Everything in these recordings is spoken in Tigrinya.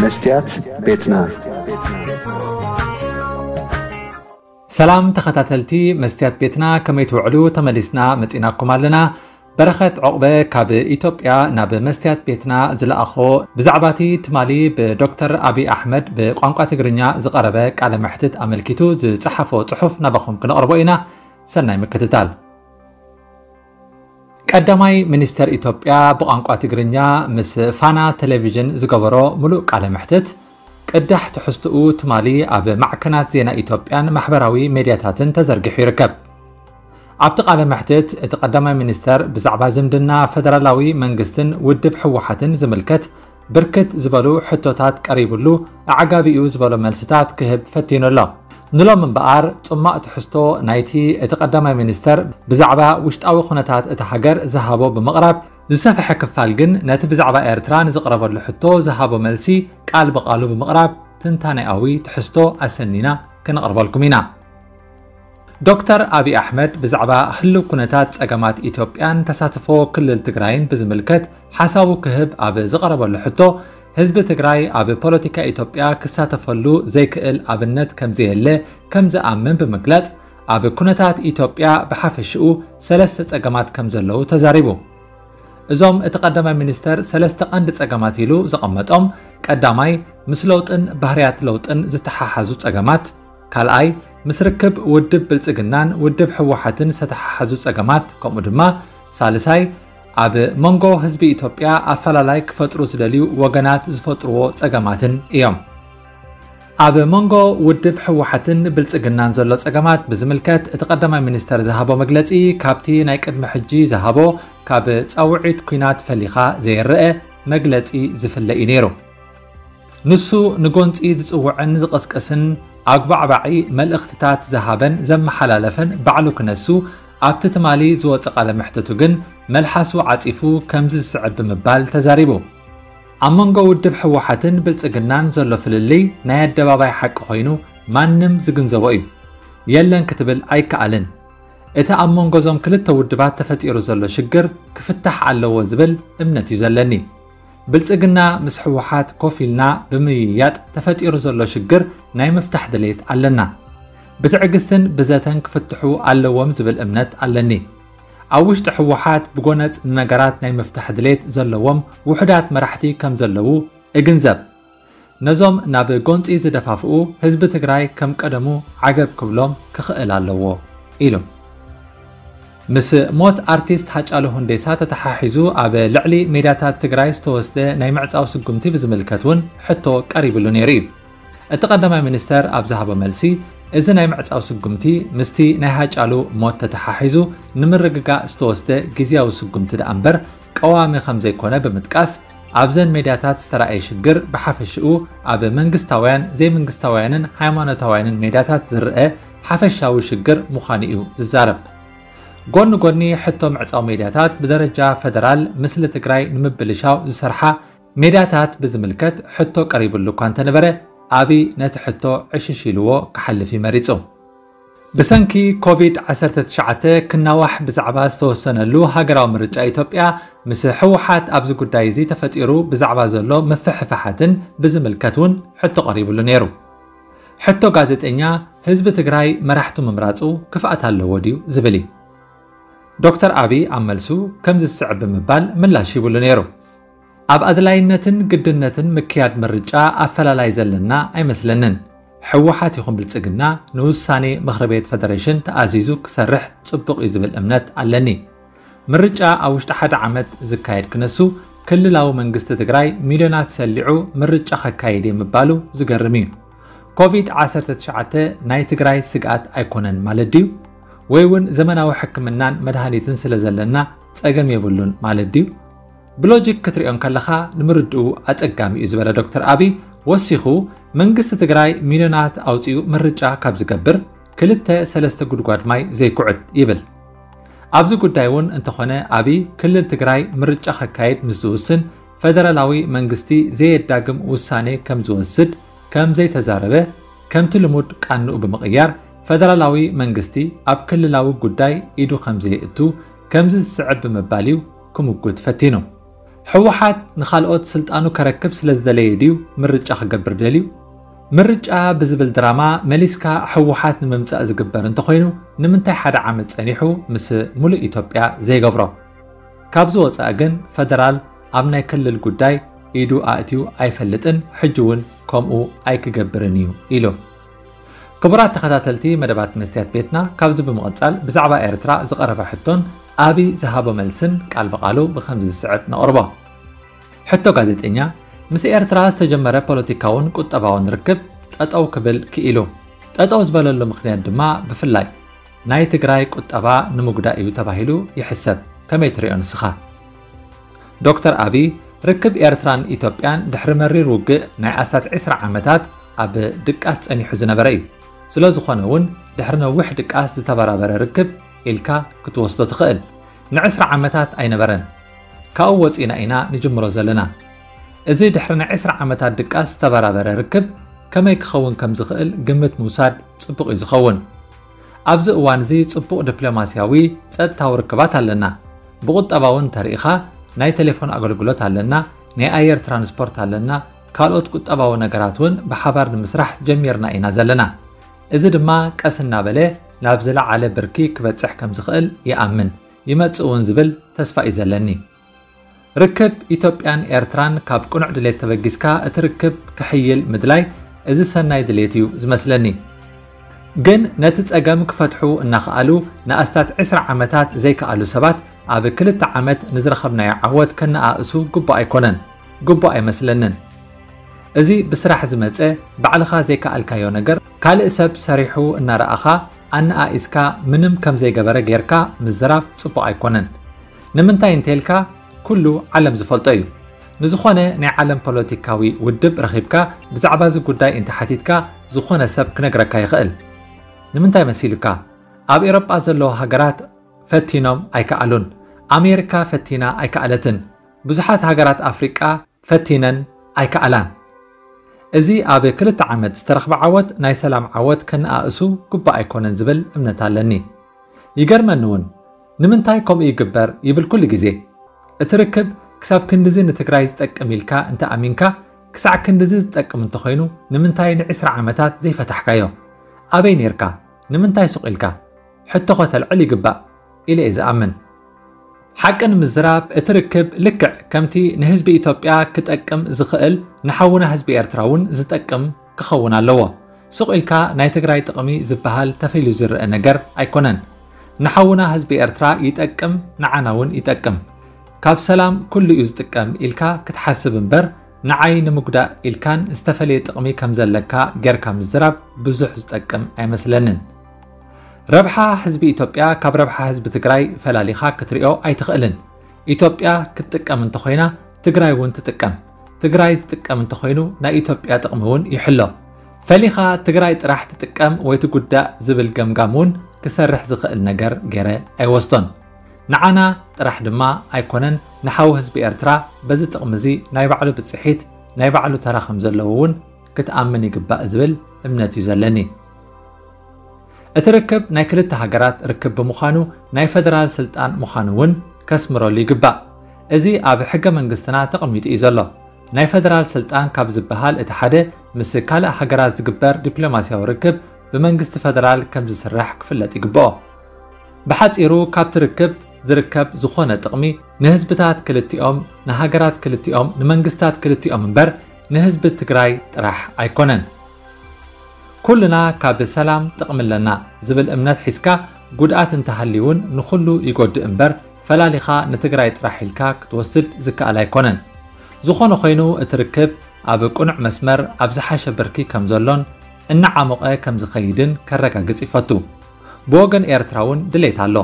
መስትያት ቤትና። ሰላም ተኸታተልቲ መስትያት ቤትና፣ ከመይ ትውዕሉ? ተመሊስና መጺናኩም ኣለና። በረኸት ዑቕበ ካብ ኢትዮጵያ ናብ መስትያት ቤትና ዝለኣኾ፣ ብዛዕባ እቲ ትማሊ ብዶክተር ኣብይ ኣሕመድ ብቋንቋ ትግርኛ ዝቐረበ ቃለ መሕትት ኣመልኪቱ ዝጸሓፎ ጽሑፍ ናባኹም ክነቕርቦ ኢና። ሰናይ ምክትታል። ቀዳማይ ሚኒስተር ኢትዮጵያ ብቋንቋ ትግርኛ ምስ ፋና ቴሌቪዥን ዝገበሮ ምሉእ ቃለ መሕትት፣ ቅዳሕ ትሕዝትኡ ትማሊ ኣብ ማዕከናት ዜና ኢትዮጵያን ማሕበራዊ ሜድያታትን ተዘርጊሑ ይርከብ። ኣብቲ ቃለ መሕትት፣ እቲ ቀዳማይ ሚኒስተር ብዛዕባ ዝምድና ፈደራላዊ መንግስትን ውድብ ህወሓትን ዝምልከት ብርክት ዝበሉ ሕቶታት ቀሪብሉ፣ ኣዕጋቢኡ ዝበሎ መልስታት ክህብ ፈቲኑ ኣሎ። ንሎም እምበኣር፣ ጽማቕ ትሕዝቶ ናይቲ እቲ ቀዳማይ ሚኒስተር ብዛዕባ ውሽጣዊ ኩነታት እታ ሃገር ዝሃቦ ብምቕራብ፣ ዝሰፍሐ ክፋል ግን ነቲ ብዛዕባ ኤርትራ ንዝቕረበሉ ሕቶ ዝሃቦ መልሲ ቃል ብቓሉ ብምቕራብ፣ ትንታኔኣዊ ትሕዝቶ ኣሰኒና ክነቕርበልኩም ኢና። ዶክተር ኣብይ ኣሕመድ ብዛዕባ ህልው ኩነታት ጸገማት ኢትዮጵያን ተሳትፎ ክልል ትግራይን ብዝምልከት ሓሳቡ ክህብ ኣብ ዝቐረበሉ ሕቶ፣ ህዝቢ ትግራይ ኣብ ፖለቲካ ኢትዮጵያ ክሳተፈሉ ዘይክእል ኣብነት ከምዘየለ ከም ዝኣምን ብምግላጽ፣ ኣብ ኩነታት ኢትዮጵያ ብሓፈሽኡ ሰለስተ ጸገማት ከም ዘለዉ ተዛሪቡ። እዞም እቲ ቀዳማይ ሚኒስተር ሰለስተ ቀንዲ ጸገማት ኢሉ ዘቐመጦም፣ ቀዳማይ፣ ምስ ለውጥን ባህርያት ለውጥን ዝተሓሓዙ ጸገማት፣ ካልኣይ፣ ምስ ርክብ ውድብ ብልጽግናን ውድብ ህወሓትን ዝተሓሓዙ ጸገማት፣ ከምኡ ድማ ሳልሳይ፣ ኣብ መንጎ ህዝቢ ኢትዮጵያ ኣፈላላይ ክፈጥሩ ዝደልዩ ወገናት ዝፈጥርዎ ጸገማትን እዮም። ኣብ መንጎ ውድብ ህወሓትን ብልጽግናን ዘሎ ጸገማት ብዝምልከት፣ እቲ ቀዳማይ ሚኒስተር ዝሃቦ መግለጺ፣ ካብቲ ናይ ቅድሚ ሕጂ ዝሃቦ፣ ካብ ጻውዒት ኲናት ፈሊኻ ዘይረኣ መግለጺ ዝፍለ እዩ ነይሩ። ንሱ ንጎንጺ ዝጽውዕን ዝቕስቅስን ኣጉባዕባዒ መልእኽትታት ዝሃበን ዘመሓላለፈን ባዕሉ ክነሱ፣ ኣብቲ ትማሊ ዝወጸ ቃለ መሕትቱ ግን መልሓሱ ዓጺፉ ከምዚ ዝስዕብ ብምባል ተዛሪቡ። ኣብ መንጎ ውድብ ህወሓትን ብልጽግናን ዘሎ ፍልልይ ናይ ኣደባባይ ሓቂ ኮይኑ ማንም ዝግንዘቦ እዩ። የለን ክትብል ኣይከኣልን። እቲ ኣብ መንጎ እዞም ክልተ ውድባት ተፈጢሩ ዘሎ ሽግር ክፍታሕ ኣለዎ ዝብል እምነት እዩ ዘለኒ። ብልጽግና ምስ ህወሓት ኮፍ ኢልና ብምይያጥ ተፈጢሩ ዘሎ ሽግር ናይ ምፍታሕ ድሌት ኣለና። ብትዕግስትን ብዘተን ክፍትሑ ኣለዎም ዝብል እምነት ኣለኒ። ኣብ ውሽጢ ህወሓት ብጎነጽ ንነገራት ናይ ምፍታሕ ድሌት ዘለዎም ውሑዳት መራሕቲ ከም ዘለዉ እግንዘብ። ነዞም ናብ ጎንጺ ዝደፋፍኡ ህዝቢ ትግራይ ከም ቀደሙ ዓገብ ክብሎም ክኽእል ኣለዎ ኢሉ። ምስ ሞት ኣርቲስት ሃጫሉ ሁንዴሳ ተተሓሒዙ ኣብ ልዕሊ ሜድያታት ትግራይ ዝተወስደ ናይ ምዕጻው ስጉምቲ ብዝምልከት እውን ሕቶ ቀሪብሉ ነይሩ እዩ። እቲ ቀዳማይ ሚኒስተር ኣብ ዝሃቦ መልሲ፣ እዚ ናይ ምዕጻው ስጉምቲ ምስቲ ናይ ሃጫሉ ሞት ተተሓሒዙ ንምርግጋእ ዝተወስደ ግዝያዊ ስጉምቲ ደኣ እምበር ቀዋሚ ከም ዘይኮነ ብምጥቃስ፣ ኣብዘን ሜድያታት ዝተራእየ ሽግር ብሓፈሽኡ ኣብ መንግስታውያን፣ ዘይመንግስታውያንን ሃይማኖታውያንን ሜድያታት ዝረኣ ሓፈሻዊ ሽግር ምዃኑ እዩ ዝዛረብ። ጎኒ ጎኒ ሕቶ ምዕጻው ሜድያታት፣ ብደረጃ ፈደራል ምስሊ ትግራይ ንምብልሻው ዝሰርሓ ሜድያታት ብዝምልከት ሕቶ ቀሪብሉ እኳ እንተነበረ፣ ኣብይ ነቲ ሕቶ ዕሽሽ ኢልዎ ክሓልፍ እዩ መሪጹ። ብሰንኪ ኮቪድ ዓሰርተ ትሽዓተ ክናዋሕ ብዛዕባ ዝተወሰነሉ ሃገራዊ ምርጫ ኢትዮጵያ፣ ምስ ህወሓት ኣብዚ ጉዳይ እዚ ተፈጢሩ ብዛዕባ ዘሎ ምፍሕፋሓትን ብዝምልከት እውን ሕቶ ቀሪብሉ ነይሩ። ሕቶ ጋዜጠኛ፣ ህዝቢ ትግራይ መራሕቱ ምምራጹ ክፍኣት ኣለዎ ድዩ ዝብል እዩ። ዶክተር ኣብይ ኣብ መልሱ ከምዚ ዝስዕብ ብምባል ምላሽ ሂብሉ ነይሩ። ኣብ ኣድላይነትን ግድነትን ምክያድ ምርጫ ኣፈላላይ ዘለና ኣይመስለንን። ህወሓት ይኹን ብልጽግና ንውሳኔ ምኽሪ ቤት ፈደሬሽን ተኣዚዙ ክሰርሕ ጽቡቕ እዩ ዝብል እምነት ኣለኒ። ምርጫ ኣብ ውሽጢ ሓደ ዓመት ዝካየድ ክነሱ፣ ክልላዊ መንግስቲ ትግራይ ሚልዮናት ሰሊዑ ምርጫ ከካይድ እየ ምባሉ ዝገርም እዩ። ኮቪድ ዓሰርተ ትሽዓተ ናይ ትግራይ ስግኣት ኣይኮነን ማለት ድዩ? ወይ እውን ዘመናዊ ሕክምናን መድሃኒትን ስለ ዘለና ጸገም የብሉን ማለት ድዩ? ብሎጂክ ክትሪኦ እንከለኻ ንምርድኡ ኣጸጋሚ እዩ ዝበለ ዶክተር ኣብይ ወሲኹ፣ መንግስቲ ትግራይ ሚልዮናት ኣውጺኡ ምርጫ ካብ ዝገብር ክልተ ሰለስተ ጉድጓድ ማይ ዘይኩዕት ይብል። ኣብዚ ጉዳይ እውን እንተኾነ ኣብይ ክልል ትግራይ ምርጫ ከካይድ ምስ ዝውስን ፈደራላዊ መንግስቲ ዘየዳግም ውሳኔ ከም ዝወስድ ከም ዘይተዛረበ፣ ከምቲ ልሙድ ቃንኡ ብምቕያር ፈደራላዊ መንግስቲ ኣብ ክልላዊ ጉዳይ ኢዱ ከም ዘየእቱ ከምዚ ዝስዕብ ብምባል እዩ ክምጉት ፈቲኑ። ህወሓት ንኻልኦት ስልጣኑ ከረክብ ስለ ዝደለየ ድዩ ምርጫ ክገብር ደልዩ? ምርጫ ብዝብል ድራማ መሊስካ ህወሓት ንምምጻእ ዝግበር እንተኾይኑ፣ ንምንታይ ሓደ ዓመት ጸኒሑ ምስ ሙሉእ ኢትዮጵያ ዘይገብሮ? ካብዚ ወጻኢ ግን ፈደራል ኣብ ናይ ክልል ጉዳይ ኢዱ ኣእትዩ ኣይፈልጥን፣ ሕጂ እውን ከምኡ ኣይክገብርን እዩ ኢሉ። ክቡራት ተኸታተልቲ መደባት መስትያት ቤትና፣ ካብዚ ብምቕጻል ብዛዕባ ኤርትራ ዝቐረበ ሕቶን ኣብይ ዝሃቦ መልስን ቃል ብቓሉ ብኸምዚ ዝስዕብ ነቕርቦ። ሕቶ ጋዜጠኛ፣ ምስ ኤርትራ ዝተጀመረ ፖለቲካውን ቁጠባውን ርክብ ጠጠው ክብል ክኢሉ። ጠጠው ዝበለሉ ምኽንያት ድማ ብፍላይ ናይ ትግራይ ቁጠባ ንምጉዳእ እዩ ተባሂሉ ይሕሰብ። ከመይ ትሪኦ ንስኻ? ዶክተር ኣብይ፣ ርክብ ኤርትራን ኢትዮጵያን ድሕሪ መሪር ውግእ ናይ ኣስታት ዕስራ ዓመታት ኣብ ድቃስ ጸኒሑ ዝነበረ እዩ። ስለ ዝኾነ እውን ድሕሪ ነዊሕ ድቃስ ዝተበራበረ ርክብ ኢልካ ክትወስዶ ትኽእል። ንዕስራ ዓመታት ኣይነበረን። ካብኡ ወጺና ኢና ንጅምሮ ዘለና። እዚ ድሕሪ ናይ ዕስራ ዓመታት ድቃስ ዝተበራበረ ርክብ ከመይ ክኸውን ከም ዝኽእል ግምት ምውሳድ ጽቡቕ እዩ ዝኸውን። ኣብዚ እዋን እዚ ጽቡቕ ዲፕሎማስያዊ ጸጥታዊ ርክባት ኣለና። ብቁጠባዊ እንተርኢኻ ናይ ቴሌፎን ኣገልግሎት ኣለና፣ ናይ ኣየር ትራንስፖርት ኣለና፣ ካልኦት ቁጠባዊ ነገራት እውን ብሓባር ንምስራሕ ጀሚርና ኢና ዘለና። እዚ ድማ ቀስ እናበለ ናብ ዝለዓለ ብርኪ ክበጽሕ ከም ዝኽእል ይኣምን፣ ይመጽእ እውን ዝብል ተስፋ እዩ ዘለኒ። ርክብ ኢትዮጵያን ኤርትራን ካብ ቅኑዕ ድሌት ተበጊስካ እቲ ርክብ ክሕይል ምድላይ፣ እዚ ሰናይ ድሌት እዩ ዝመስለኒ። ግን ነቲ ጸገም ክፈትሑ እናኸኣሉ ንኣስታት ዕስራ ዓመታት ዘይከኣሉ ሰባት ኣብ ክልተ ዓመት ንዝረኸብናዮ ዓወት ከነኣእሱ ግቡእ ኣይኮነን፣ ግቡእ ኣይመስለንን። እዚ ብስራሕ ዝመጸ ባዕልኻ ዘይከኣልካዮ ነገር ካልእ ሰብ ሰሪሑ እናረኣኻ ኣነኣኢስካ ምንም ከም ዘይገበረ ጌርካ ምዝራብ ጽቡቕ ኣይኮነን። ንምንታይ እንተልካ ኩሉ ዓለም ዝፈልጦ እዩ። ንዝኾነ ናይ ዓለም ፖለቲካዊ ውድብ ረኺብካ ብዛዕባ እዚ ጉዳይ እንተሓቲትካ ዝኾነ ሰብ ክነግረካ ይኽእል። ንምንታይ መሲሉካ? ኣብ ኤሮጳ ዘለዋ ሃገራት ፈቲኖም ኣይከኣሉን። ኣሜሪካ ፈቲና ኣይከኣለትን። ብዙሓት ሃገራት ኣፍሪቃ ፈቲነን ኣይከኣላን። እዚ ኣብ ክልተ ዓመት ዝተረኽበ ዓወት ናይ ሰላም ዓወት ከነኣእሱ ግቡእ ኣይኮነን ዝብል እምነት ኣለኒ። ይገርመኒ እውን ንምንታይ ከምኡ ይግበር ይብል ኩሉ ግዜ። እቲ ርክብ ክሳብ ክንድዚ ንትግራይ ዝጠቅም ኢልካ እንተ ኣሚንካ ክሳዕ ክንድዚ ዝጠቅም እንተኾይኑ ንምንታይ ንዕስራ ዓመታት ዘይፈታሕካዮ? ኣበይ ኔርካ? ንምንታይ ሱቕ ኢልካ? ሕቶ ከተልዕል ይግባእ ኢለ እየ ዝኣምን። ሓቂ ንምዝራብ እቲ ርክብ ልክዕ ከምቲ ንህዝቢ ኢትዮጵያ ክጠቅም ዝኽእል ንሓውና ህዝቢ ኤርትራ እውን ዝጠቅም ክኸውን ኣለዎ። ሱቕ ኢልካ ናይ ትግራይ ጥቕሚ ዝበሃል ተፈልዩ ዝረአ ነገር ኣይኮነን። ንሓውና ህዝቢ ኤርትራ ይጠቅም፣ ንዓና እውን ይጠቅም። ካብ ሰላም ኩሉ እዩ ዝጥቀም ኢልካ ክትሓስብ እምበር ንዓይ ንምጉዳእ ኢልካን ዝተፈለየ ጥቕሚ ከም ዘለካ ጌርካ ምዝራብ ብዙሕ ዝጠቅም ኣይመስለንን። ረብሓ ህዝቢ ኢትዮጵያ ካብ ረብሓ ህዝቢ ትግራይ ፈላሊኻ ክትሪኦ ኣይትኽእልን። ኢትዮጵያ ክትጥቀም እንተኾይና ትግራይ እውን ትጥቀም። ትግራይ ዝጥቀም እንተኾይኑ ናይ ኢትዮጵያ ጥቕሚ እውን ይሕሎ። ፈሊኻ ትግራይ ጥራሕ ትጥቀም ወይ ትጉዳእ ዝብል ገምጋም እውን ክሰርሕ ዝኽእል ነገር ገይረ ኣይወስዶን። ንዓና ጥራሕ ድማ ኣይኮነን ንሓው ህዝቢ ኤርትራ በዚ ጥቕሚ እዚ ናይ ባዕሉ ብፅሒት ናይ ባዕሉ ተራ ከም ዘለዎ እውን ክትኣምን ይግባእ ዝብል እምነት እዩ ዘለኒ። እቲ ርክብ ናይ ክልተ ሃገራት ርክብ ብምዃኑ ናይ ፈደራል ስልጣን ምዃኑ እውን ከስምረሉ ይግባእ። እዚ ኣብ ሕገ መንግስትና ተቐሚጡ እዩ ዘሎ። ናይ ፈደራል ስልጣን ካብ ዝበሃል እቲ ሓደ ምስ ካልእ ሃገራት ዝግበር ዲፕሎማስያዊ ርክብ ብመንግስቲ ፈደራል ከም ዝስራሕ ክፍለጥ ይግብኦ። ብሓጺሩ ካብቲ ርክብ ዝርከብ ዝኾነ ጥቕሚ ንህዝብታት ክልቲኦም፣ ንሃገራት ክልቲኦም፣ ንመንግስታት ክልቲኦም እምበር ንህዝቢ ትግራይ ጥራሕ ኣይኮነን። ኩልና ካብ ሰላም ጥቕሚ ኣለና ዝብል እምነት ሒዝካ ጉድኣት እንተሃልዩ እውን ንኹሉ ይጎድእ እምበር ፈላሊኻ ንትግራይ ጥራሕ ኢልካ ክትወስድ ዝከኣል ኣይኮነን። ዝኾነ ኮይኑ እቲ ርክብ ኣብ ቅኑዕ መስመር ኣብ ዝሓሸ ብርኪ ከም ዘሎን እናዓሞቐ ከም ዝኸይድን ከረጋግጽ ይፈቱ። ብወገን ኤርትራ እውን ድሌት ኣሎ።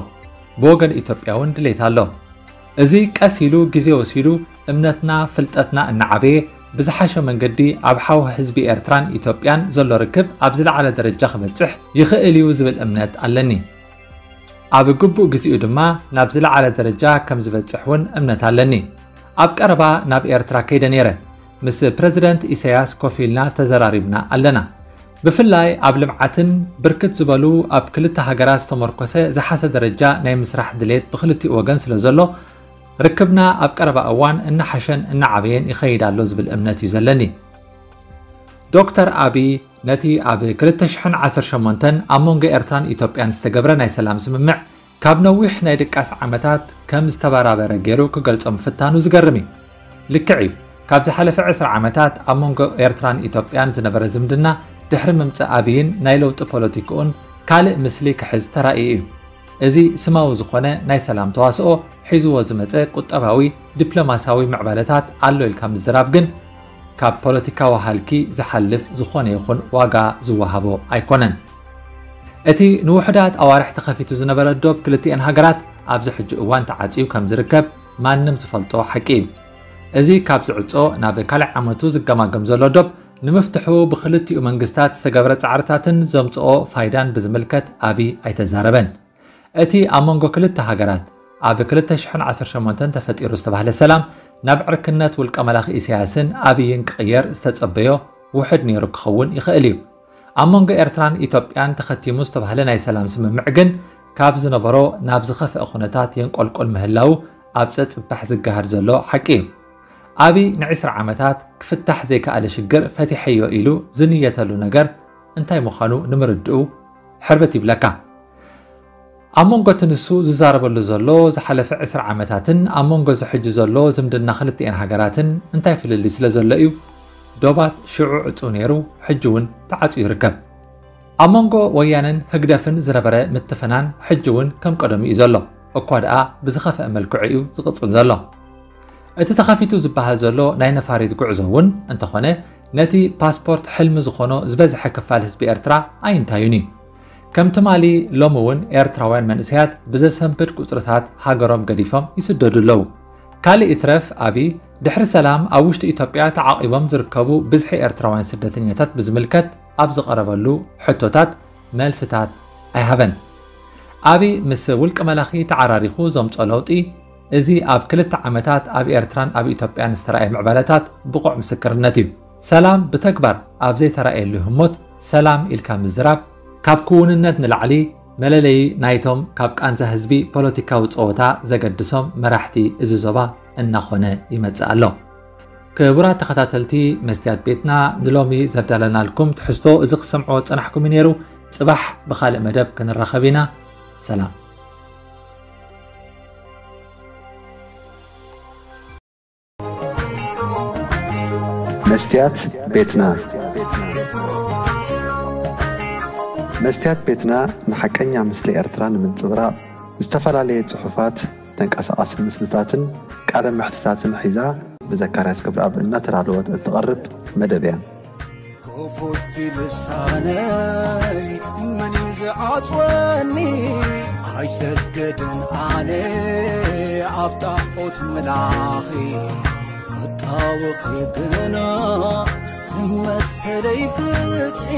ብወገን ኢትዮጵያ እውን ድሌት ኣሎ። እዚ ቀስ ኢሉ ግዜ ወሲዱ እምነትና ፍልጠትና እናዓበየ ብዝሓሸ መንገዲ ኣብ ሓው ህዝቢ ኤርትራን ኢትዮጵያን ዘሎ ርክብ ኣብ ዝለዓለ ደረጃ ክበጽሕ ይኽእል እዩ ዝብል እምነት ኣለኒ። ኣብ ግቡእ ግዜኡ ድማ ናብ ዝለዓለ ደረጃ ከም ዝበጽሕ እውን እምነት ኣለኒ። ኣብ ቀረባ ናብ ኤርትራ ከይደ ነይረ። ምስ ፕረዚደንት ኢሳያስ ኮፍ ኢልና ተዘራሪብና ኣለና። ብፍላይ ኣብ ልምዓትን ብርክት ዝበሉ ኣብ ክልተ ሃገራት ዝተመርኮሰ ዝሓሰ ደረጃ ናይ ምስራሕ ድሌት ብክልቲኡ ወገን ስለ ዘሎ ርክብና ኣብ ቀረባ እዋን እናሓሸን እናዓበየን ይኸይድ ኣሎ ዝብል እምነት እዩ ዘለኒ። ዶክተር ኣቢ ነቲ ኣብ ክልተ ሽሕን ዓሰርተ ሸሞንተን ኣብ መንጎ ኤርትራን ኢትዮጵያን ዝተገብረ ናይ ሰላም ስምምዕ ካብ ነዊሕ ናይ ድቃስ ዓመታት ከም ዝተበራበረ ገይሩ ክገልጾ ምፍታኑ ዝገርም እዩ። ልክዕ እዩ። ካብ ዝሓለፈ ዕስራ ዓመታት ኣብ መንጎ ኤርትራን ኢትዮጵያን ዝነበረ ዝምድና ድሕሪ ምምጻእ ኣብይን ናይ ለውጢ ፖለቲክኡን ካልእ ምስሊ ክሕዝ ተራእዩ እዩ። እዚ ስማዊ ዝኾነ ናይ ሰላም ተዋስኦ ሒዝዎ ዝመጸ ቁጠባዊ፣ ዲፕሎማስያዊ ምዕባለታት ኣሎ ኢልካ ምዝራብ ግን ካብ ፖለቲካዊ ሃልኪ ዝሓልፍ ዝኾነ ይኹን ዋጋ ዝወሃቦ ኣይኮነን። እቲ ንውሑዳት ኣዋርሕ ተኸፊቱ ዝነበረ ዶብ ክልቲኤን ሃገራት ኣብዚ ሕጂ እዋን ተዓጽዩ ከም ዝርከብ ማንም ዝፈልጦ ሓቂ እዩ። እዚ ካብ ዝዕጾ ናብ ካልእ ዓመቱ ዝገማገም ዘሎ ዶብ ንምፍትሑ ብክልቲኡ መንግስታት ዝተገብረ ጻዕርታትን ዘምጽኦ ፋይዳን ብዝምልከት ኣቢ ኣይተዛረበን። እቲ ኣብ መንጎ ክልተ ሃገራት ኣብ ክልተ ሽሕን ዓሰርተ ሸሞንተን ተፈጢሩ ዝተባህለ ሰላም ናብ ዕርክነት ውልቀ መላኺ ኢሳያስን ኣብይን ክቕየር ዝተጸበዮ ውሑድ ነይሩ ክኸውን ይኽእል እዩ። ኣብ መንጎ ኤርትራን ኢትዮጵያን ተኸቲሙ ዝተባህለ ናይ ሰላም ስምምዕ ግን ካብ ዝነበሮ ናብ ዝኸፍአ ኩነታት የንቆልቁል ምህላው ኣብ ጸጽባሕ ዝገሃድ ዘሎ ሓቂ እዩ። ኣቢ ንዒስራ ዓመታት ክፍታሕ ዘይከኣለ ሽግር ፈቲሐዮ ኢሉ ዝንየተሉ ነገር እንታይ ምዃኑ ንምርድኡ ሕርብት ይብለካ። ኣብ መንጎ እቲ ንሱ ዝዛረበሉ ዘሎ ዝሓለፈ ዕስራ ዓመታትን ኣብ መንጎ እዚ ሕጂ ዘሎ ዝምድና ክልቲኤን ሃገራትን እንታይ ፍልልይ ስለ ዘሎ እዩ ዶባት ሽዑ ዕጹው ነይሩ፣ ሕጂ እውን ተዓጽዩ ይርከብ። ኣብ መንጎ ወያነን ህግደፍን ዝነበረ ምትፍናን ሕጂ እውን ከም ቀደሙ እዩ ዘሎ፣ እኳ ደኣ ብዝኸፍአ መልክዑ እዩ ዝቕጽል ዘሎ። እቲ ተኸፊቱ ዝበሃል ዘሎ ናይ ነፋሪት ጉዕዞ እውን እንተኾነ ነቲ ፓስፖርት ሕልሚ ዝኾኖ ዝበዝሐ ክፋል ህዝቢ ኤርትራ ኣይንታዩን እዩ። ከም ትማሊ ሎሚ እውን ኤርትራውያን መንእሰያት ብዘሰንብድ ቁጽርታት ሃገሮም ገዲፎም ይስደዱ ኣለዉ። ካልእ ይትረፍ ኣቢ ድሕሪ ሰላም ኣብ ውሽጢ ኢትዮጵያ ተዓቒቦም ዝርከቡ ብዝሒ ኤርትራውያን ስደተኛታት ብዝምልከት ኣብ ዝቐረበሉ ሕቶታት መልስታት ኣይሃበን። ኣቢ ምስ ውልቀ መላኺ ተዓራሪኹ ዘምጾ ለውጢ እዚ ኣብ ክልተ ዓመታት ኣብ ኤርትራን ኣብ ኢትዮጵያን ዝተራእየ ምዕባለታት ብቑዕ ምስክርነት እዩ። ሰላም ብተግባር ኣብ ዘይተራእየሉ ህሞት ሰላም ኢልካ ምዝራብ ካብ ክውንነት ንላዕሊ መለለዪ ናይቶም ካብ ቃንዛ ህዝቢ ፖለቲካዊ ጸወታ ዘገድሶም መራሕቲ እዚ ዞባ እናኾነ ይመጽእ ኣሎ። ክቡራት ተኸታተልቲ መስትያት ቤትና ንሎሚ ዘዳለናልኩም ትሕዝቶ እዚ ክሰምዕዎ ጸናሕኩም እዩ ነይሩ። ጽባሕ ብኻልእ መደብ ክንራኸብ ኢና። ሰላም። መስትያት ቤትና። መስትያት ቤትና ንሓቀኛ ምስሊ ኤርትራ ንምንጽብራቕ ዝተፈላለየ ጽሑፋት፣ ተንቀሳቓሲ ምስልታትን ቃለ መሕትታትን ሒዛ ብዘካርያስ ገብረኣብ እናተዳለወት እትቐርብ መደብ እያ። ክፉት ልሳነይ መን እዩ ዝዓጽወኒ? ኣይሰግድን ኣነ ኣብ ጣዖት ምላኺ፣ ክጣወኺ ግና መሰለይ ፍትሒ።